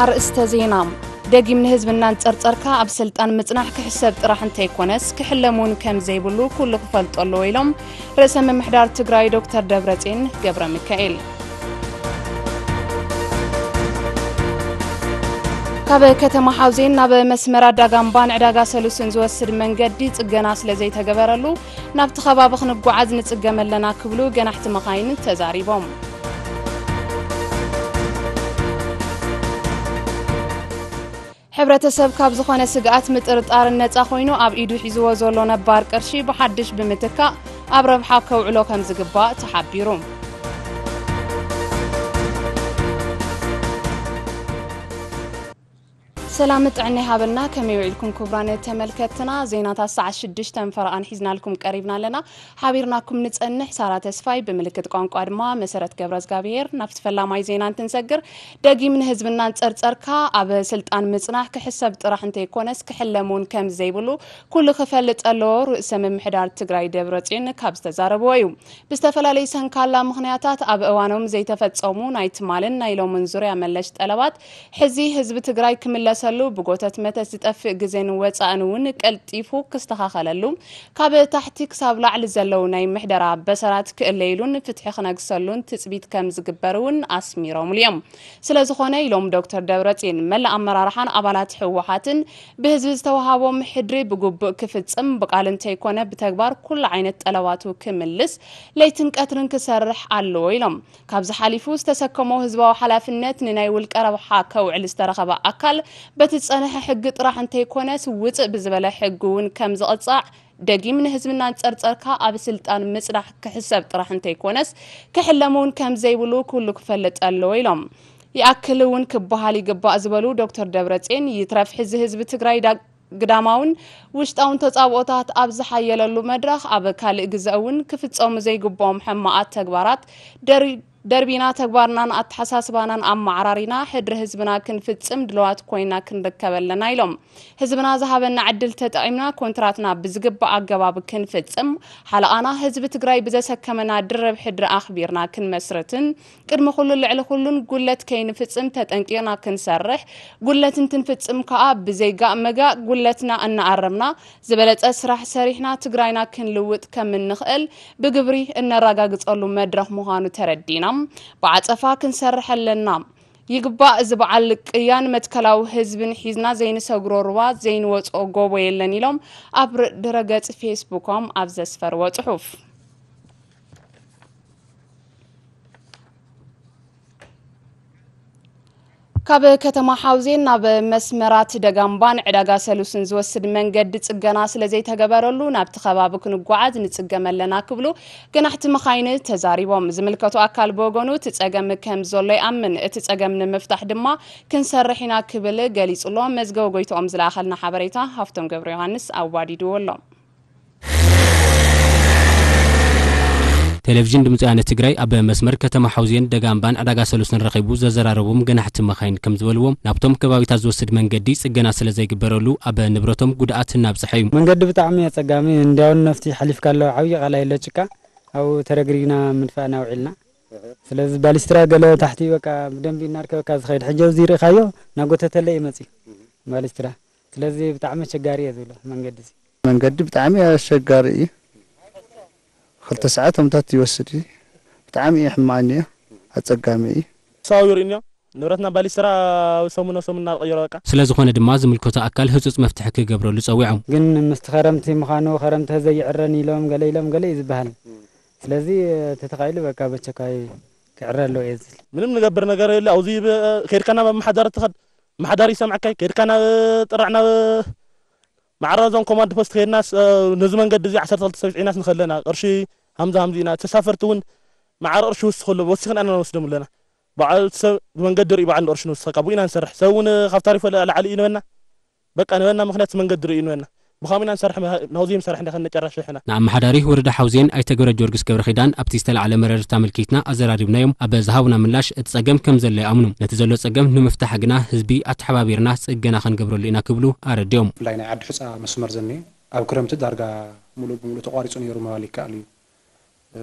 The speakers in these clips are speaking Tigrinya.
ኣርእስተ ዜና። ደጊም ንህዝብና እንጸርጸርካ ኣብ ስልጣን ምጽናሕ ክሕሰብ ጥራሕ እንተይኮነስ ክሕለም እውን ከም ዘይብሉ ኩሉ ክፈልጦ ኣለዎ ኢሎም ርእሰ ምምሕዳር ትግራይ ዶክተር ደብረጽዮን ገብረ ሚካኤል። ካብ ከተማ ሓውዜን ናብ መስመር ኣዳጋምባን ዕዳጋ ሰሉስን ዝወስድ መንገዲ ጽገና ስለ ዘይተገበረሉ ናብቲ ከባቢ ክንጓዓዝ ንጽገም ኣለና ክብሉ ገናሕቲ መኻይን ተዛሪቦም። ሕብረተሰብ ካብ ዝኾነ ስግኣት ምጥርጣርን ነጻ ኮይኑ ኣብ ኢዱ ሒዝዎ ዘሎ ነባር ቅርሺ ብሓድሽ ብምትካእ ኣብ ረብሓ ከውዕሎ ከም ዝግባእ ተሓቢሩ። ሰላም ጥዕና ይሃበልና። ከመይ ውዒልኩም ክቡራን ተመልከትና? ዜናታት ሰዓት ሽዱሽተ ፈረቓን ሒዝናልኩም ቀሪብና ኣለና። ሓቢርናኩም ንጸንሕ ሳራ ተስፋይ፣ ብምልክት ቋንቋ ድማ መሰረት ገብረዝጋብሄር። ናብቲ ፈላማይ ዜና እንትንሰግር፣ ደጊም ንህዝብና እንጸርጸርካ ኣብ ስልጣን ምጽናሕ ክሕሰብ ጥራሕ እንተይኮነስ ክሕለም እውን ከም ዘይብሉ ኩሉ ክፈልጥ ኣለዎ ርእሰ ምምሕዳር ትግራይ ደብረጽዮን ካብ ዝተዛረብዎ እዩ። ብዝተፈላለዩ ሰንካላ ምኽንያታት ኣብ እዋኖም ዘይተፈጸሙ ናይ ትማልን ናይ ሎምን ዙርያ መለሽ ጠለባት ሕዚ ህዝቢ ትግራይ ክምለሰሉ ብጎተት መተት ዝጠፍእ ግዜን ወጻእን እውን ቀልጢፉ ክስተኻኸለሉ ካብ ታሕቲ ክሳብ ላዕሊ ዘለዉ ናይ ምሕደራ በሰራት ክእለይሉን ፍትሒ ክነግሰሉን ትጽቢት ከም ዝግበር እውን ኣስሚሮምሉ እዮም። ስለ ዝኾነ ኢሎም ዶክተር ደብረጽዮን መላእ ኣመራርሓን ኣባላት ህወሓትን ብህዝቢ ዝተዋሃቦም ሕድሪ ብግቡእ ክፍጽም ብቃል እንተይኮነ ብተግባር ኩሉ ዓይነት ጠለባቱ ክምልስ ለይትን ቀትርን ክሰርሕ ኣለዎ ኢሎም። ካብዚ ሓሊፉ ዝተሰከሞ ህዝባዊ ሓላፍነት ንናይ ውልቀ ረብሓ ከውዕል ዝተረኸበ ኣካል በቲ ዝጸንሐ ሕጊ ጥራሕ እንተይኮነስ ውጽእ ብዝበለ ሕጊ እውን ከም ዝቕጻዕ ደጊም ንህዝብና እንጸርጸርካ ኣብ ስልጣን ምጽናሕ ክሕሰብ ጥራሕ እንተይኮነስ ክሕለም እውን ከም ዘይብሉ ኩሉ ክፈልጥ ኣለዎ ኢሎም። ይኣክል እውን ክበሃል ይግባእ ዝበሉ ዶክተር ደብረጽዮን ይትረፍ ሕዚ ህዝቢ ትግራይ ዳ- ግዳማውን ውሽጣውን ተጻብኦታት ኣብ ዝሓየለሉ መድረኽ ኣብ ካልእ ግዘ እውን ክፍጸሙ ዘይግብኦም ሕማቓት ተግባራት ደሪ- ደርቢና ተግባርናን ኣተሓሳስባናን ኣመዓራሪና ሕድሪ ህዝብና ክንፍጽም ድልዋት ኮይና ክንርከብ ኣለና ኢሎም። ህዝብና ዝሃበና ዕድል ተጠቒምና ኮንትራትና ብዝግባእ ኣገባብ ክንፍጽም ሓለቓና ህዝቢ ትግራይ ብዘሰከመና ድርብ ሕድሪ ኣኽቢርና ክንመስርትን ቅድሚ ኩሉን ልዕሊ ኩሉን ጉለት ከይንፍጽም ተጠንቂቕና ክንሰርሕ፣ ጉለት እንትንፍጽም ከኣ ብዘይ ጋእ መጋእ ጉለትና እናኣረምና ዝበለጸ ስራሕ ሰሪሕና ትግራይና ክንልውጥ ከም እንኽእል ብግብሪ እነረጋግጸሉ መድረኽ ምዃኑ ተረዲና ብዓጸፋ ክንሰርሕ ኣለና። ይግባእ፣ እዚ በዓል ቅያን መትከላዊ ህዝብን ሒዝና ዘይንሰግሮ ሩባ ዘይንወጽኦ ጎቦ የለን ኢሎም ኣብ ድረገጽ ፌስቡኮም ኣብ ዘስፈርዎ ጽሑፍ። ካብ ከተማ ሓውዜን ናብ መስመራት ደጋምባን ዕዳጋ ሰሉስን ዝወስድ መንገዲ ጽገና ስለ ዘይተገበረሉ ናብቲ ከባቢ ክንጓዓዝ ንጽገም ኣለና ክብሉ ገናሕቲ መኻይን ተዛሪቦም። ዝምልከቱ ኣካል ብወገኑ እቲ ጸገም ከም ዘሎ ይኣምን። እቲ ጸገም ንምፍታሕ ድማ ክንሰርሕ ኢና ክብል ገሊጹ ኣሎ። መዝገበ ጎይትኦም ዝለኣኸልና ሓበሬታ ሃፍቶም ገብረ ዮሃንስ ኣዋዲድዎ ኣሎ። ቴሌቪዥን ድምፂ ወያነ ትግራይ ኣብ መስመር ከተማ ሓውዜን ደጋምባን ዕዳጋ ሰሉስን ረኺቡ ዘዘራረቦም ገናሕቲ መኻይን ከም ዝበልዎ ናብቶም ከባቢታት ዝወስድ መንገዲ ፅገና ስለ ዘይግበረሉ ኣብ ንብረቶም ጉድኣት እናብፅሐ እዩ። መንገዲ ብጣዕሚ ኣፀጋሚ እንዲያውን ነፍቲ ሓሊፍካ ኣለዎ ዓብዪ ቃላይ ኣሎ ጭቃ ኣብኡ ተረግሪግና ምድፋእና ውዒልና። ስለዚ ባሊስትራ ገለ ታሕቲ በቃ ብደንቢ እናርከበካ ዝኸይድ ሕጂ ኣብዚ ርኢኻዮ እናጎተተለ እዩ መፅዩ ባሊስትራ። ስለዚ ብጣዕሚ ኣቸጋሪ እየ ዝብሎ መንገዲ እዚ። መንገዲ ብጣዕሚ ኣሸጋሪ እዩ። ክልተ ሰዓት ቶምታት ይወስድ እዩ። ብጣዕሚ እዩ ሕማቕኒ እዩ። ኣጸጋሚ እዩ። ሰው ይርእንዮ ንብረትና ባሊስትራ ሰሙን ናብ ሰሙን እናተቐየሮ በቃ። ስለ ዝኾነ ድማ ዝምልከቶ ኣካል ህጹጽ መፍትሒ ክገብረሉ ጸዊዖም። ግን ምስቲ ኸረምቲ ምዃኑ ኸረምቲ ዘይዕረን ኢሎም ገለ ኢሎም ገለ እዩ ዝበሃል። ስለዚ ተተኻኢሉ በቃ በቸካይ ክዕረ ኣለዎ እየ ዝብል። ምንም ንገብር ነገር የለ ኣብዚ ብ- ከይድካ ናብ ኣመሓዳሪ ትኸድ ኣመሓዳሪ ይሰምዐካይ ከይድካ ናብ ጥራሕ ናብ ማዕረ እዞም ኮማንድ ፖስት ከይድናስ ነዚ መንገዲ እዚ ዓሰርተ ክልተ ሰብ ዒናስ ንኸለና ቅርሺ ሃምዛ ሃምዚ ኢና ተሳፈርቲ እውን ማዕረ ቅርሺ ውስኽ ኣሎ ወሲኽና ኢና ንወስዶም ኣለና። በዓል ሰብ መንገዲ ርኢ በዓል ቅርሺ ንውስኸካ ብኡ ኢና ንሰርሕ ሰብ እውን ካብ ታሪፎ ላዕሊ እዩ ንበና። በቃ ንበና ምኽንያት መንገዲ ርኢ ንበና ብኻም ኢና ንሰርሕ ናውዚ ምሰርሕ እንደ ከነጨራሽ ሕና። ንኣመሓዳሪ ወረዳ ሓውዜን ኣይተ ገብረ ጊዮርጊስ ገብረ ኺዳን ኣብቲ ዝተላዕለ መረርታ ኣመልኪትና ኣዘራሪብናዮም ኣብ ዝሃቡና ምላሽ እቲ ጸገም ከም ዘሎ ይኣምኑ። ነቲ ዘሎ ጸገም ንምፍታሕ ግና ህዝቢ ኣተሓባቢርና ጽገና ክንገብረሉ ኢና ክብሉ ኣረድዮም። ብፍላይ ናይ ዓዲ ሑጻ መስመር ዘኒ ኣብ ክረምቲ ዳርጋ ሙሉእ ብሙሉእ ተቋሪጹ ነይሩ ምባል ይከኣል እዩ።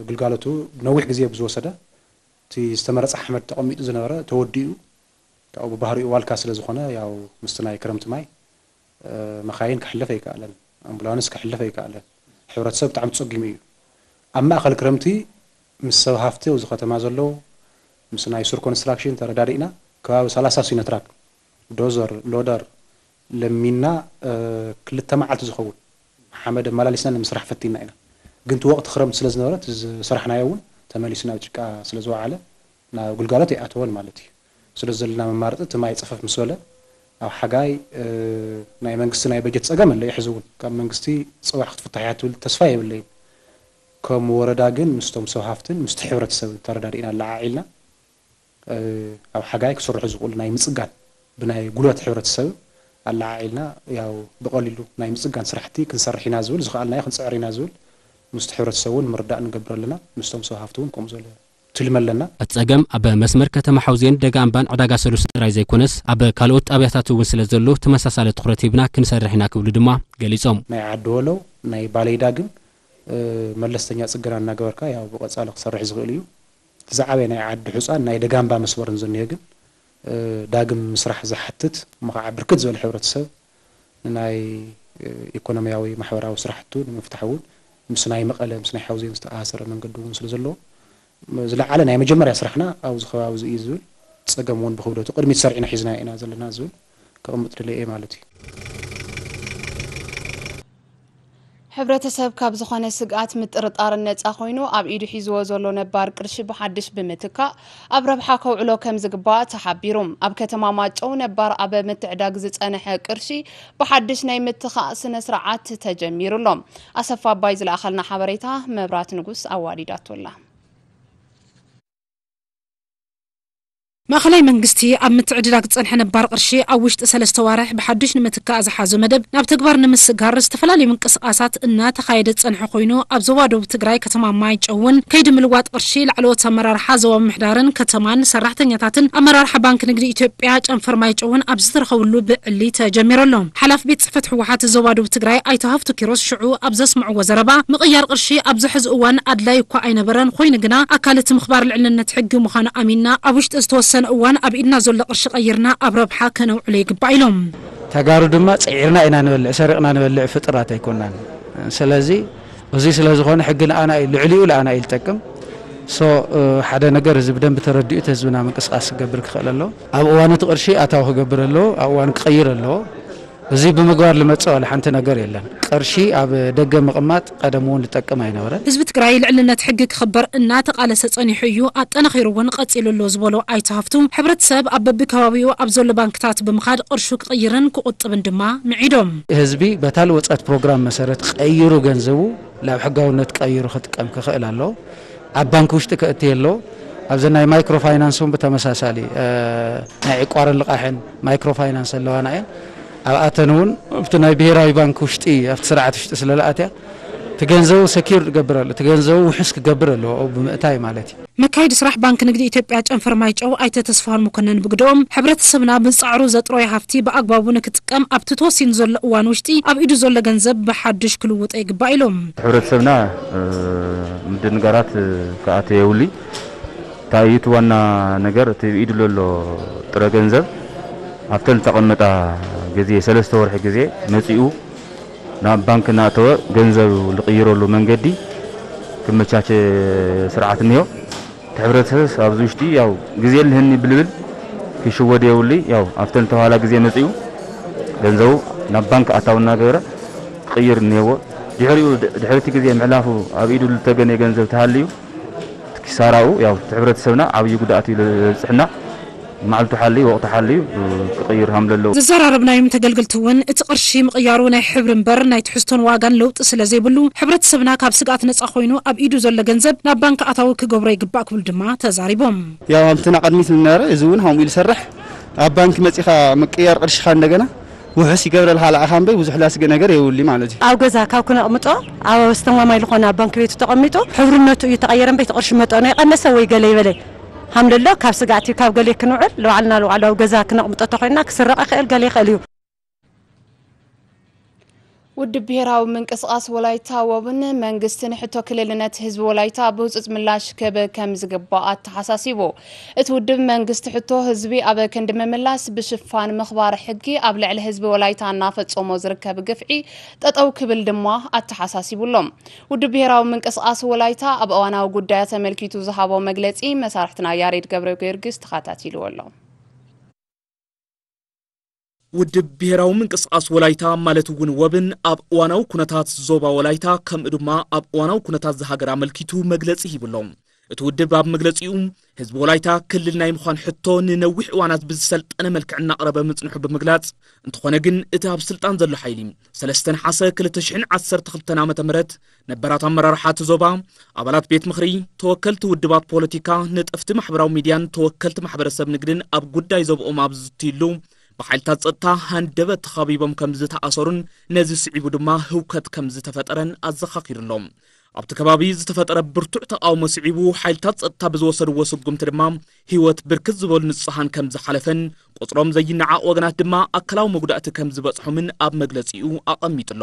ግልጋሎቱ ነዊሕ ግዜ ብዝወሰደ እቲ ዝተመረጸ ሓመድ ተቐሚጡ ዝነበረ ተወዲኡ ካብኡ ብባህሪኡ ዋልካ ስለ ዝኾነ፣ ያው ምስቲ ናይ ክረምቲ ማይ፣ እ፣ መኻይን ክሕልፍ ኣይከኣለን፣ ኣምቡላንስ ክሕልፍ ኣይከኣለን። ሕብረተሰብ ብጣዕሚ ተጸጊሙ እዩ። ኣብ ማእከል ክረምቲ ምስ ሰብ ሃፍቲ ኣብዚ ከተማ ዘለዉ፣ ምስ ናይ ሱር ኮንስትራክሽን ተረዳዲእና፣ ከባቢ ሰላሳ ሲኖትራክ፣ ዶዘር፣ ሎደር ለሚና፣ እ፣ ክልተ መዓልቲ ዝኸውን ሓመድ ኣመላሊስና ንምስራሕ ፈቲና ኢና። ግን እቲ ወቕቲ ክረምቲ ስለ ዝነበረ፣ እቲ ዝሰራሕናዮ እውን ተመሊሱ ናብ ጭቃ ስለ ዝወዓለ፣ ናብ ግልጋሎት ኣይኣተወን ማለት እዩ። ስለዚ ዘለና መማረፂ፣ እቲ ማይ ፀፈፍ ምስ በለ፣ ኣብ ሓጋይ፣ እ፣ ናይ መንግስቲ ናይ በጀት ፀገም ኣሎ እዩ። ሕዚ እውን ካብ መንግስቲ ፅባሕ ክትፍታሕ እያ ትብል ተስፋ የብለይን። ከም ወረዳ ግን ምስቶም ሰብ ሃፍትን ምስቲ ሕብረተሰብን ተረዳዲእና ኣለዓዒልና፣ እ፣ ኣብ ሓጋይ ክስርሑ ዝኽእሉ ናይ ምፅጋን፣ ብናይ ጉልበት ሕብረተሰብ ኣለዓዒልና፣ ያው ብቐሊሉ ናይ ምፅጋን ስራሕቲ ክንሰርሕ ኢና ዝብል፣ ዝኸኣልናዮ ክንፅዕር ኢና ዝብል ምስቲ ሕብረተሰብ እውን ምርዳእ ንገብር ኣለና። ምስቶም ሰብ ሃፍቲ እውን ከምኡ ዝበለ ትልሚ ኣለና። እቲ ጸገም ኣብ መስመር ከተማ ሓውዜን ደጋ ኣምባን ዕዳጋ ሰሉስ ጥራይ ዘይኮነስ፣ ኣብ ካልኦት ጣብያታት እውን ስለ ዘሎ፣ ተመሳሳሊ ትኹረት ሂብና ክንሰርሕ ኢና ክብሉ ድማ ገሊጾም። ናይ ዓዲ ወሎ፣ ናይ ባሌዳ ግን፣ እ፣ መለስተኛ ጽገና እናገበርካ፣ ያው ብቐጻሊ ክሰርሕ ዝኽእል እዩ። እቲ ዝዓበየ ናይ ዓዲ ሑጻን ናይ ደጋምባ መስመርን ዝኒሀ ግን፣ እ፣ ዳግም ምስራሕ ዝሓትት፣ እሞ ኸዓ ብርክት ዝበለ ሕብረተሰብ ንናይ፣ እ፣ ኢኮኖሚያዊ ማሕበራዊ ስራሕቱ ንምፍታሕ እውን ምስ ናይ መቐለ፣ ምስ ናይ ሓውዜን ዝተኣሳሰረ መንገዲ እውን ስለ ዘለዎ፣ ዝለዓለ ናይ መጀመርያ ስራሕና ኣብዚ ከባቢ እዚ እዩ ዝብል፣ ጸገም እውን ብክብደቱ ቅድሚት ሰሪዕና ሒዝና ኢና ዘለና ዝብል ከቕምጥ ድልየ እየ ማለት እዩ። ሕብረተሰብ ካብ ዝኾነ ስግኣት ምጥርጣርን ነጻ ኮይኑ ኣብ ኢዱ ሒዝዎ ዘሎ ነባር ቅርሺ ብሓድሽ ብምትካእ ኣብ ረብሓ ከውዕሎ ከም ዝግባእ ተሓቢሩ። ኣብ ከተማ ማጨው ነባር ኣብ ምትዕዳግ ዝጸንሐ ቅርሺ ብሓድሽ ናይ ምትኻእ ስነ ስርዓት ተጀሚሩ ኣሎ። ኣሰፋ ኣባይ ዝለኣኸልና ሓበሬታ መብራት ንጉስ ኣዋዲዳቶ ኣላ። ማእኸላይ መንግስቲ ኣብ ምትዕድዳግ ዝፀንሐ ነባር ቅርሺ ኣብ ውሽጢ ሰለስተ ዋርሕ ብሓዱሽ ንምትካእ ዝሓዞ መደብ ናብ ተግባር ንምስጋር ዝተፈላለዩ ምንቅስቓሳት እናተኻየደ ዝፀንሐ ኮይኑ ኣብ ዞባ ደቡብ ትግራይ ከተማ ማይጨው እውን ከይዲ ምልዋጥ ቅርሺ ላዕለዎት ኣመራርሓ ዞባ ምምሕዳርን ከተማን ሰራሕተኛታትን ኣመራርሓ ባንኪ ንግዲ ኢትዮጵያ ጨንፈር ማይጨውን ኣብ ዝተረኸብሉ ብዕሊ ተጀሚሩ ኣሎ። ሓላፊ ቤት ፅሕፈት ህወሓት ዞባ ደቡብ ትግራይ ኣይተ ሃፍቱ ኪሮስ ሽዑ ኣብ ዘስምዕዎ ዘረባ ምቕያር ቅርሺ ኣብዚ ሕዚ እዋን ኣድላይ እኳ ኣይነበረን፣ ኮይኑ ግና ኣካል እቲ ምኽባር ልዕልነት ሕጊ ምዃኑ ኣሚንና ኣብ ውሽጢ ዝተወሰነ እዋን ኣብ ኢድና ዘሎ ቅርሺ ቀይርና ኣብ ረብሓ ከነውዕሎ ይግባእ ኢሎም። ተጋሩ ድማ ፅዒርና ኢና ንበልዕ፣ ሰሪቕና ንበልዕ ፍጡራት ኣይኮናን። ስለዚ እዚ ስለ ዝኾነ ሕጊ ንኣና እዩ፣ ልዕሊኡ ንኣና እዩ ዝጠቅም። ሶ ሓደ ነገር እዚ ብደንቢ ተረዲኡ እቲ ህዝብና ምንቅስቃስ ክገብር ክኽእል ኣለዎ። ኣብ እዋን እቲ ቅርሺ ኣታዊ ክገብር ኣለዎ፣ ኣብ እዋን ክቕይር ኣለዎ። እዚ ብምግባር ልመጽእ ዋላ ሓንቲ ነገር የለን። ቅርሺ ኣብ ደገ ምቕማጥ ቀደም እውን ዝጠቅም ኣይነበረን። ህዝቢ ትግራይ ልዕልነት ሕጊ ክኽበር እናተቓለሰ ጸኒሑ እዩ፣ ኣጠናኺሩ እውን ቀጺሉ ኣሎ ዝበሎ ኣይተ ሃፍቱ፣ ሕብረተሰብ ኣብ በብከባቢኡ ኣብ ዘሎ ባንክታት ብምኻድ ቅርሹ ክቕይርን ክቑጥብን ድማ ምዒዶም። ህዝቢ በታ ልወጸት ፕሮግራም መሰረት ቀይሩ ገንዘቡ ናብ ሕጋውነት ቀይሩ ክጥቀም ክኽእል ኣለዎ። ኣብ ባንክ ውሽጢ ከእቲ የለዎ። ኣብዚ ናይ ማይክሮ ፋይናንስ እውን ብተመሳሳሊ ናይ ዕቋርን ልቓሕን ማይክሮ ፋይናንስ ኣለዋና እየን። ኣብኣተን እውን ኣብቲ ናይ ብሄራዊ ባንክ ውሽጢ ኣብቲ ስርዓት ውሽጢ ስለ ዝኣትያ እቲ ገንዘቡ ሰኪር ክገብር ኣሎ፣ እቲ ገንዘቡ ውሑስ ክገብር ኣለዎ ኣብኡ ብምእታይ ማለት እዩ። መካይዲ ስራሕ ባንኪ ንግዲ ኢትዮጵያ ጨንፈር ማይጨው ኣይተ ተስፋሁን መኮነን ብግደኦም፣ ሕብረተሰብና ብዝፃዕሩ ዘጥረዮ ሃፍቲ ብኣግባቡ ንክጥቀም ኣብቲ ተወሲኑ ዘሎ እዋን ውሽጢ ኣብ ኢዱ ዘሎ ገንዘብ ብሓዱሽ ክልውጦ ይግባእ ኢሎም። ሕብረተሰብና ምድንጋራት ክኣተ የብሉይ። እንታይ እዩ እቲ ዋና ነገር፣ እቲ ኣብ ኢዱ ዘሎ ጥረ ገንዘብ ኣብተን ዝተቐመጣ ግዜ ሰለስተ ወርሒ ግዜ መፂኡ ናብ ባንክ እናእተወ ገንዘብ ዝቕይረሉ መንገዲ ክመቻቸ ስርዓት እኒሆ። እቲ ሕብረተሰብ ኣብዚ ውሽጢ ያው ግዜ ኣለኒ ብልብል ክሽወድ የብሉይ። ያው ኣብተን ዝተባህላ ግዜ መፂኡ ገንዘቡ ናብ ባንክ ኣታዊ እናገበረ ክቕይር እኒሄዎ። ድሕሪኡ ድሕሪ እቲ ግዜ ምሕላፉ ኣብ ኢዱ ዝተገነየ ገንዘብ ተሃልዩ እቲ ኪሳራኡ ያው እቲ ሕብረተሰብና ዓብዪ ጉድኣት እዩ ዘብፅሕና። መዓልቱ ሓልዩ ወቕቱ ሓልዩ ክቕይር ሃም ዘለዎ። ዘዘራረብናዮም ተገልገልቲ እውን እቲ ቅርሺ ምቕያሩ ናይ ሕብሪ እምበር ናይ ትሕዝቶን ዋጋን ለውጢ ስለ ዘይብሉ ሕብረተሰብና ካብ ስግኣት ነፃ ኮይኑ ኣብ ኢዱ ዘሎ ገንዘብ ናብ ባንክ ኣታዊ ክገብሮ ይግባእ ክብሉ ድማ ተዛሪቦም። ያው ኣብቲ ናቐድሚት ዝነበረ እዚ እውን ከምኡ ኢሉ ዝሰርሕ ኣብ ባንክ መፂኻ ምቅያር ቅርሽኻ እንደገና ውሑስ ይገብረልካ ለኣኻ እምበይ ብዙሕ ላስገ ነገር የብሉ ማለት እዩ። ኣብ ገዛ ካብ ክነቕምጦ ኣብ ኣስተማማኝ ዝኾነ ኣብ ባንክ ቤቱ ተቐሚጡ ሕብርነቱ እዩ ተቐየረ እምበይ እቲ ቅርሺ መጠኑ ይቐነሰ ወይ ገለ ይበለ ሃምለሎ ካብ ስጋእቲ ካብ ገለ ክንውዕል ንባዕልና ንባዕሉ ኣብ ገዛ ክነቕምጦ ተኾይንና ክስረቕ ይኽእል ገለ ይኽእል እዩ። ውድብ ብሄራዊ ምንቅስቓስ ወላይታ ወብን መንግስቲ ንሕቶ ክልልነት ህዝቢ ወላይታ ብህጹጽ ምላሽ ክህብ ከም ዝግባእ ኣተሓሳሲቡ። እቲ ውድብ መንግስቲ ሕቶ ህዝቢ ኣብ ክንዲ ምምላስ ብሽፋን ምኽባር ሕጊ ኣብ ልዕሊ ህዝቢ ወላይታ እናፈጸሞ ዝርከብ ግፍዒ ጠጠው ክብል ድማ ኣተሓሳሲቡ ኣሎ። ውድብ ብሄራዊ ምንቅስቓስ ወላይታ ኣብ እዋናዊ ጉዳያት ተመልኪቱ ዝሃቦ መግለጺ መሳርሕትና ያሬድ ገብረ ጊዮርጊስ ተኸታቲልዎ ኣሎ። ውድብ ብሄራዊ ምንቅስቓስ ወላይታ ማለት እውን ወብን ኣብ እዋናዊ ኩነታት ዞባ ወላይታ ከምኡ ድማ ኣብ እዋናዊ ኩነታት ዝሃገር ኣመልኪቱ መግለፂ ሂቡ ኣሎ። እቲ ውድብ ኣብ መግለፂኡ ህዝቢ ወላይታ ክልል ናይ ምዃን ሕቶ ንነዊሕ እዋናት ብዝሰልጠነ መልክዕ እናቕረበ ምፅንሑ ብምግላፅ፣ እንተኾነ ግን እቲ ኣብ ስልጣን ዘሎ ሓይሊ ሰለስተ ነሓሰ ክልተ ሽሕን ዓሰርተ ክልተን ዓመተ ምህረት ነበራት ኣመራርሓ እቲ ዞባ፣ ኣባላት ቤት ምኽሪ፣ ተወከልቲ ውድባት ፖለቲካ፣ ነጠፍቲ ማሕበራዊ ሚድያን ተወከልቲ ማሕበረሰብ ንግድን ኣብ ጉዳይ ዞብኦም ኣብ ዝዝትይሉ ብሓይልታት ጸጥታ ሃንደበት ተኸቢቦም ከም ዝተኣሰሩን ነዚ ስዒቡ ድማ ህውከት ከም ዝተፈጠረን ኣዘኻኺሩ ኣሎ። ኣብቲ ከባቢ ዝተፈጠረ ብርቱዕ ተቓውሞ ስዒቡ ሓይልታት ጸጥታ ብዝወሰድዎ ስጉምቲ ድማ ህይወት ብርክት ዝበሉ ንጹሃን ከም ዝሓለፈን ቁጽሮም ዘይነዓቕ ወገናት ድማ ኣካላዊ መጉዳእቲ ከም ዝበጽሖምን ኣብ መግለጺኡ ኣቐሚጡ ኣሎ።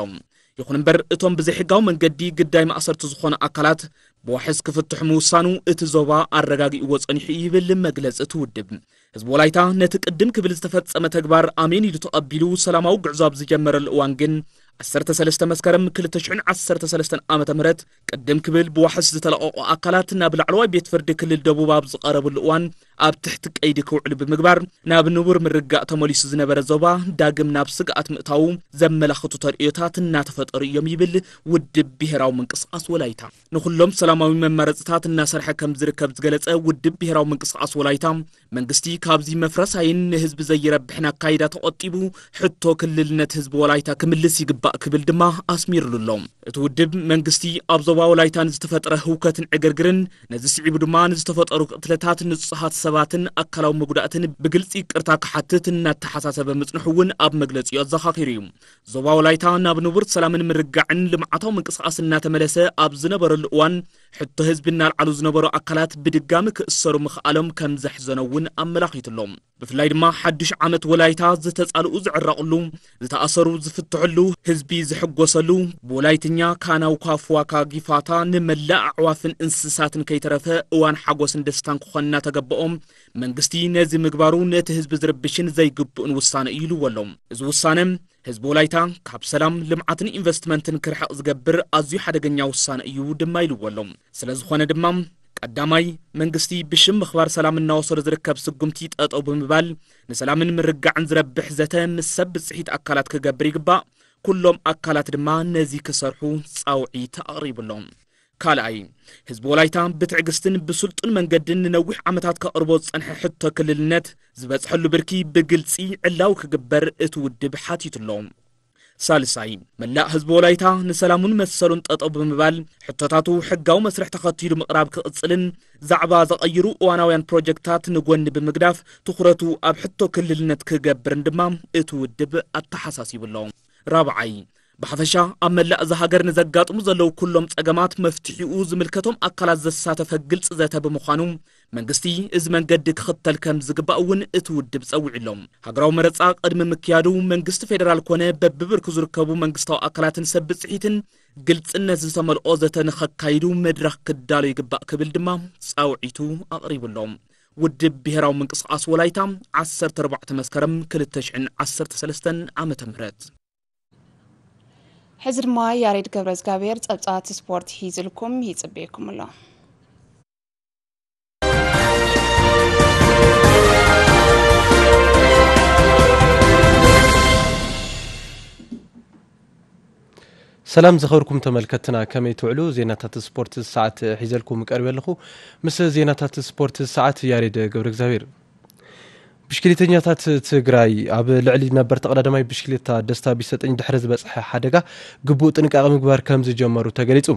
ይኹን እምበር እቶም ብዘይሕጋዊ መንገዲ ግዳይ ማእሰርቲ ዝኾኑ ኣካላት ብዋሕስ ክፍትሑ ምውሳኑ እቲ ዞባ ኣረጋጊእዎ ጸኒሑ ይብል መግለጺ እቲ ውድብ። ህዝቢ ወላይታ ነቲ ቅድም ክብል ዝተፈጸመ ተግባር ኣሜን ኢሉ ተቐቢሉ ሰላማዊ ጉዕዞ ኣብ ዝጀመረሉ እዋን ግን ዓሰርተ ሰለስተ መስከረም ክልተ ሽሕን ዓሰርተ ሰለስተን ዓመተ ምህረት ቅድም ክብል ብዋሕስ ዝተለቐቑ ኣካላት ናብ ላዕለዋይ ቤት ፍርዲ ክልል ደቡብ ኣብ ዝቐረብሉ እዋን ኣብ ትሕቲ ቀይዲ ክውዕሉ ብምግባር ናብ ንቡር ምርጋእ ተመሊሱ ዝነበረ ዞባ ዳግም ናብ ስግኣት ምእታዉ ዘመላኽቱ ተርእዮታት እናተፈጠሩ እዮም ይብል ውድብ ብሄራዊ ምንቅስቓስ ወላይታ። ንኹሎም ሰላማዊ መማረፅታት እናሰርሐ ከም ዝርከብ ዝገለፀ ውድብ ብሄራዊ ምንቅስቓስ ወላይታ መንግስቲ ካብዚ መፍረሳይን ንህዝቢ ዘይረብሕን ኣካይዳ ተቖጢቡ ሕቶ ክልልነት ህዝቢ ወላይታ ክምልስ ይግባእ ክብል ድማ ኣስሚርሉ ኣሎ። እቲ ውድብ መንግስቲ ኣብ ዞባ ወላይታ ንዝተፈጠረ ህውከትን ዕግርግርን ነዚ ስዒቡ ድማ ንዝተፈጠሩ ቅትለታት ንጹሃት ሰባትን ኣካላዊ መጉዳእትን ብግልጺ ይቅርታ ክሓትት እናተሓሳሰበ ምጽንሑ እውን ኣብ መግለጺኡ ኣዘኻኺሩ እዩ። ዞባ ወላይታ ናብ ንቡር ሰላምን ምርጋዕን ልምዓታዊ ምንቅስቃስ እናተመለሰ ኣብ ዝነበረሉ እዋን ሕቶ ህዝቢ እናልዓሉ ዝነበሩ ኣካላት ብድጋሚ ክእሰሩ ምኽኣሎም ከም ዘሕዘኖ እውን ኣመላኺቱ ኣሎ። ብፍላይ ድማ ሓዱሽ ዓመት ወላይታ ዝተጻልኡ ዝዕረቕሉ፣ ዝተኣሰሩ ዝፍትሕሉ፣ ህዝቢ ዝሕጎሰሉ፣ ብወላይትኛ ካናው ካፍዋካ ጊፋታ ንመላእ ኣዕዋፍን እንስሳትን ከይተረፈ እዋን ሓጎስን ደስታን ክኾን እናተገበኦም መንግስቲ ነዚ ምግባሩ ነቲ ህዝቢ ዝርብሽን ዘይግብእን ውሳነ እዩ ኢልዎ ኣሎ። እዚ ውሳነ ህዝቢ ወላይታ ካብ ሰላም፣ ልምዓትን ኢንቨስትመንትን ክርሕቕ ዝገብር ኣዝዩ ሓደገኛ ውሳነ እዩ ድማ ኢልዎ ኣሎ። ስለዝኾነ ድማ ቀዳማይ መንግስቲ ብሽም ምኽባር ሰላም እናወሰዶ ዝርከብ ስጉምቲ ጠጠው ብምባል ንሰላምን ምርጋዕን ዝረብሕ ዘተ ምስ ሰብ ብፅሒት ኣካላት ክገብር ይግባእ። ኩሎም ኣካላት ድማ ነዚ ክሰርሑ ፃውዒት ኣቕሪቡ ኣሎ። ካልኣይ ህዝቢ ወላይታ ብትዕግስትን ብስልጡን መንገድን ንነዊሕ ዓመታት ከቕርቦ ዝፀንሐ ሕቶ ክልልነት ዝበፅሐሉ ብርኪ ብግልፂ ዕላዊ ክግበር እቲ ውድብ ሓቲቱ ኣሎ። ሳልሳይ መላእ ህዝቢ ወላይታ ንሰላሙን መሰሉን ጠጠው ብምባል ሕቶታቱ ሕጋዊ መስርሕ ተኸቲሉ ምቕራብ ክቕፅልን ዛዕባ ዘቐይሩ እዋናውያን ፕሮጀክታት ንጎኒ ብምግዳፍ ትኹረቱ ኣብ ሕቶ ክልልነት ክገብርን ድማ እቲ ውድብ ኣተሓሳሲቡ ኣሎ። ራብዓይ ብሓፈሻ ኣብ መላእ እዛ ሃገር ንዘጋጥሙ ዘለዉ ኩሎም ጸገማት መፍትሒኡ ዝምልከቶም ኣካላት ዘሳተፈ ግልፂ ዘተ ብምዃኑ መንግስቲ እዚ መንገዲ ክኽተል ከም ዝግባእ እውን እቲ ውድብ ጸዊዑ ኣሎ። ሃገራዊ መረፃ ቅድሚ ምክያዱ መንግስቲ ፌደራል ኮነ በብብርኩ ዝርከቡ መንግስታዊ ኣካላትን ሰብ ብፅሒትን ግልፅነት ዝተመልኦ ዘተ ንኸካይዱ መድረኽ ክዳሎ ይግባእ ክብል ድማ ፃውዒቱ ኣቕሪቡ ኣሎ። ውድብ ብሄራዊ ምንቅስቓስ ወላይታ ዓሰርተ ኣርባዕተ መስከረም ክልተ ሽሕን ዓሰርተ ሰለስተን ዓመተ ምህረት። ሕዚ ድማ ያሬድ ገብረ እግዚኣብሔር ጸብጻባት ስፖርት ሒዝልኩም ይጽበየኩም ኣሎ። ሰላም ዝኸብርኩም ተመልከትና፣ ከመይ ትውዕሉ? ዜናታት ስፖርት ሰዓት ሒዘልኩም ቀርበ ኣለኹ። ምስ ዜናታት ስፖርት ሰዓት ያሬድ ገብረ እግዚኣብሔር። ብሽክሌተኛታት ትግራይ ኣብ ልዕሊ ነበር ተቐዳዳማይ ብሽክሌታ ደስታ ቢሰጠኝ ድሕሪ ዝበፅሐ ሓደጋ ግቡእ ጥንቃቐ ምግባር ከም ዝጀመሩ ተገሊፁ።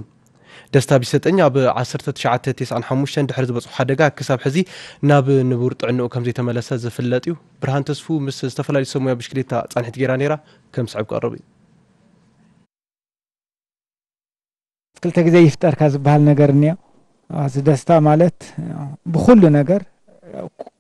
ደስታ ቢሰጠኝ ኣብ ዓሰርተ ትሽዓተ ተስዓን ሓሙሽተን ድሕሪ ዝበፅሖ ሓደጋ ክሳብ ሕዚ ናብ ንቡር ጥዕንኡ ከም ዘይተመለሰ ዝፍለጥ እዩ። ብርሃን ተስፉ ምስ ዝተፈላለዩ ሰብ ሞያ ብሽክሌታ ፃንሒት ገይራ ነይራ፣ ከም ዝስዕብ ክቐርብ እዩ። ክልተ ግዜ ይፍጠርካ ዝበሃል ነገር እኒኦ። እዚ ደስታ ማለት ብኩሉ ነገር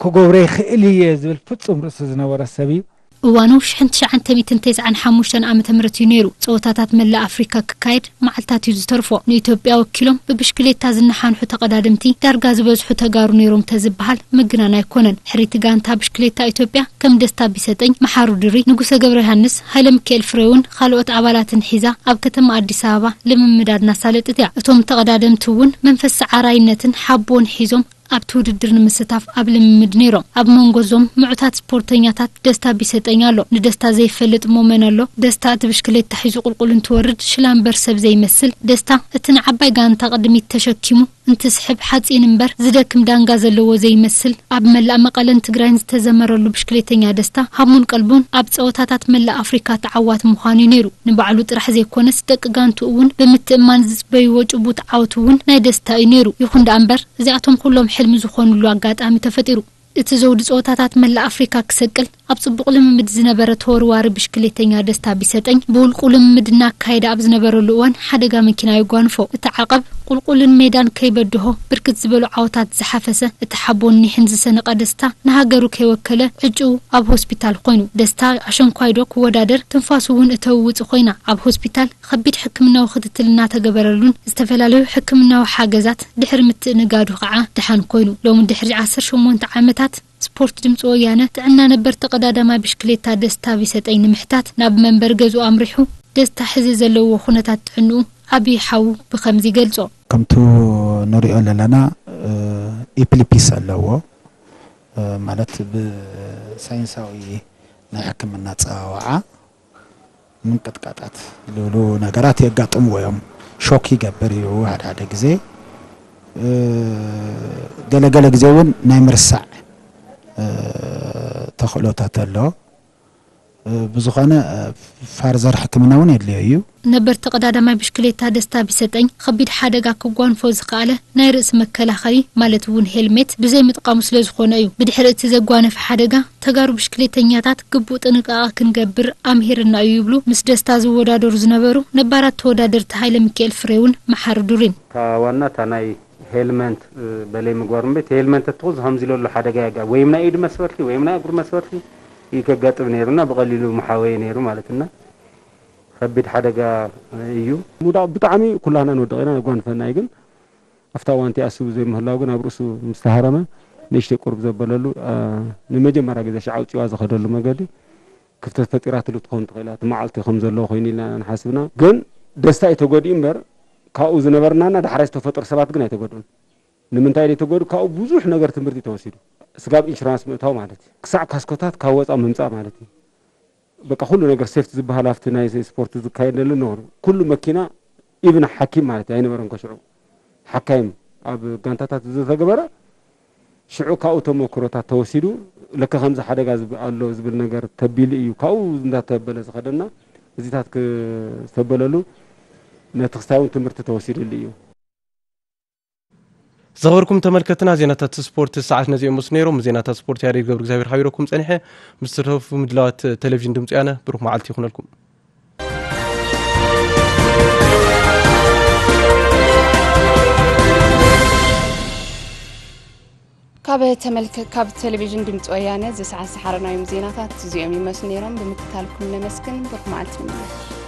ክገብሮ ይኽእል እየ ዝብል ፍጹም ርእሲ ዝነበሮ ሰብ እዩ። እዋኑ ሽሕን ትሽዓን ሚእትን ተስዓን ሓሙሽተን ዓመተ ምህረት እዩ ነይሩ። ጸወታታት መላእ ኣፍሪካ ክካየድ መዓልታት እዩ ዝተርፎ። ንኢትዮጵያ ወኪሎም ብብሽክሌታ ዝነሓንሑ ተቐዳደምቲ ዳርጋ ዝበዝሑ ተጋሩ ነይሮም ተዝበሃል ምግናን ኣይኮነን። ሕሪቲ ጋንታ ብሽክሌታ ኢትዮጵያ ከም ደስታ ቢሰጠኝ፣ መሓሩ ድሪ፣ ንጉሰ ገብረ ዮሃንስ፣ ሃይለ ሚካኤል ፍሬውን ካልኦት ኣባላትን ሒዛ ኣብ ከተማ ኣዲስ ኣበባ ልምምዳ እናሳለጠት እያ። እቶም ተቐዳደምቲ እውን መንፈስ ሰዓራይነትን ሓቦን ሒዞም ኣብቲ ውድድር ንምስታፍ ኣብ ልምምድ ነይሮም። ኣብ መንጎ እዞም ምዑታት ስፖርተኛታት ደስታ ቢሰጠኝ ኣሎ። ንደስታ ዘይፈልጥ እሞ መን ኣሎ? ደስታ እቲ ብሽክሌታ ሒዙ ቁልቁል እንትወርድ ሽላ እምበር ሰብ ዘይመስል። ደስታ እቲ ንዓባይ ጋንታ ቅድሚት ተሸኪሙ እንትስሕብ ሓፂን እምበር ዝደክም ዳንጋ ዘለዎ ዘይመስል። ኣብ መላእ መቐለን ትግራይን ዝተዘመረሉ ብሽክሌተኛ ደስታ ሃሙን ቀልቡን ኣብ ፀወታታት መላእ ኣፍሪካ ተዓዋቲ ምዃኑ እዩ ነይሩ። ንባዕሉ ጥራሕ ዘይኮነስ ደቂ ጋንቱ እውን ብምትእማን ዝፅበይዎ ጭቡጥ ዓወት እውን ናይ ደስታ እዩ ነይሩ። ይኹን ደኣ እምበር እዚኣቶም ኩሎም ሕልሚ ዝኾኑሉ ኣጋጣሚ ተፈጢሩ። እቲ ዘውዲ ፀወታታት መላእ ኣፍሪካ ክሰቅል ኣብ ፅቡቕ ልምምድ ዝነበረ ተወርዋሪ ብሽክሌተኛ ደስታ ቢሰጠኝ ብውልቁ ልምምድ እናካየደ ኣብ ዝነበረሉ እዋን ሓደጋ መኪና የጓንፎ። እቲ ዓቐብ ቁልቁልን ሜዳን ከይበድሆ ብርክት ዝበሉ ዓወታት ዝሓፈሰ እቲ ሓቦን ኒሕን ዝሰነቐ ደስታ ንሃገሩ ከይወከለ ዕጭኡ ኣብ ሆስፒታል ኮይኑ። ደስታ ኣሸንኳይዶ ክወዳደር ትንፋሱ እውን እተውውፅ ኮይና ኣብ ሆስፒታል ከቢድ ሕክምናዊ ክትትል እናተገበረሉን ዝተፈላለዩ ሕክምናዊ ሓገዛት ድሕሪ ምትእንጋዱ ከዓ ደሓን ኮይኑ። ሎሚ ድሕሪ ዓሰርተ ሸሞንተ ዓመታት ስፖርት ድምፂ ወያነ ጥዕና ነበር ተቐዳዳማይ ብሽክሌታ ደስታ ቢሰጠኝ ንምሕታት ናብ መንበሪ ገዝኡ ኣምሪሑ። ደስታ ሕዚ ዘለዎ ኩነታት ጥዕንኡ ዓብዪ ሓዉ ብኸምዚ ይገልጾ። ከምቱ ንሪኦ ዘለና፣ እ፣ ኢፕሊፒስ ኣለዎ፣ እ፣ ማለት ብሳይንሳዊ ናይ ሕክምና ኣጸዋውዓ ምንቅጥቃጣት ዝብሉ ነገራት የጋጥምዎ እዮም። ሾክ ይገብር እዩ ሓደ ሓደ ግዜ። እ፣ ገለገለ ግዜ እውን ናይ ምርሳዕ፣ እ፣ ተኽእሎታት ኣሎ። እ፣ ብዝኾነ፣ እ፣ ፋርዘር ሕክምና እውን የድልዮ እዩ። ነበር ተቐዳዳማይ ብሽክሌታ ደስታ ቢሰጠኝ ከቢድ ሓደጋ ክጓንፎ ዝኸኣለ ናይ ርእሲ መከላኸሊ ማለት እውን ሄልሜት ብዘይ ምጥቃሙ ስለ ዝኾነ እዩ። ብድሕሪ እቲ ዘጓነፈ ሓደጋ ተጋሩ ብሽክሌተኛታት ግቡእ ጥንቃቐ ክንገብር ኣምሂርና እዩ ይብሉ ምስ ደስታ ዝወዳደሩ ዝነበሩ ነባራት ተወዳደርቲ ሃይለ ሚካኤል ፍሬውን መሓሪ ዱሪን። እታ ዋና እታ ናይ ሄልመንት፣ እ፣ በለይ ምግባር እምበይ፣ እቲ ሄልመንት እትኹ ዝኸምዚ ለሎ ሓደጋ ያጋ ወይም ናይ ኢድ መስበርቲ ወይም ናይ እግሪ መስበርቲ እዩ ከጋጥም ነይሩና ብቐሊሉ መሓወየ ነይሩ ማለት እና ከቢድ ሓደጋ እዩ። ሙዳቕ ብጣዕሚ ኩላህና ንወድቕ ኢና፣ የጓንፈና እዩ። ግን ኣብታ እዋን እቲኣ እሱ ዘይምህላው ግን ኣብ ርእሱ ምስ ተሃረመ ንእሽተይ ቁርብ ዘበለሉ፣ አ፣ ንመጀመርያ ግዜ ሻዕ ኣውፂዋ ዝኸደሉ መገዲ ክፍተት ፈጢራትሉ ትኸውን ትኽእል እያ። እቲ መዓልቲ ከም ዘለዎ ኮይኑ ኢልና ንሓስብና። ግን ደስታ እዩ ተጎዲኡ እምበር ካብኡ ዝነበርናና ዳሕራይ ዝተፈጠሩ ሰባት ግን ኣይተጎድኡን። ንምንታይ ደይ ተጎድኡ? ካብኡ ብዙሕ ነገር ትምህርቲ ተወሲዱ። ስጋብ ኢንሹራንስ ምእታው ማለት እዩ። ክሳዕ ካስኮታት ካብ ወፃ ምምፃእ ማለት እዩ። በቃ ኩሉ ነገር ሴፍቲ ዝበሃል ኣብቲ ናይ ስፖርት ዝካየደሉ ነበሩ። ኩሉ መኪና ኢቭን ሓኪም ማለት እዩ ኣይነበረን ከሽዑ። ሓካይም ኣብ ጋንታታት ዝተገበረ ሽዑ ካብኡ ተመክሮታት ተወሲዱ ለከ ከምዚ ሓደጋ ዝብ-፣ ኣሎ ዝብል ነገር ተቢሉ እዩ። ካብኡ እንዳተበለ ዝኸደና እዚታት ክተበለሉ ነቲ ክስታይ እውን ትምህርቲ ተወሲድሉ እዩ። ዝኸበርኩም ተመልከትና ዜናታት ስፖርት ሰዓት ነዚኦም ምስ ነይሮም ዜናታት ስፖርት ያሬድ ገብረ እግዚኣብሔር ሓቢረኩም ጸኒሐ። ምስ ተረፉ ምድላዋት ቴሌቪዥን ድምፂ ያነ ብሩኽ መዓልቲ ይኹነልኩም። ካብ ተመልከ-፣ ካብ ቴሌቪዥን ድምፂ ወያነ እዚ ሰዓት ዝሓረናዮም ዜናታት እዚኦም ይመስሉ ነይሮም። ብምክታልኩም ነመስግን። ብሩኽ መዓልቲ ይምነ።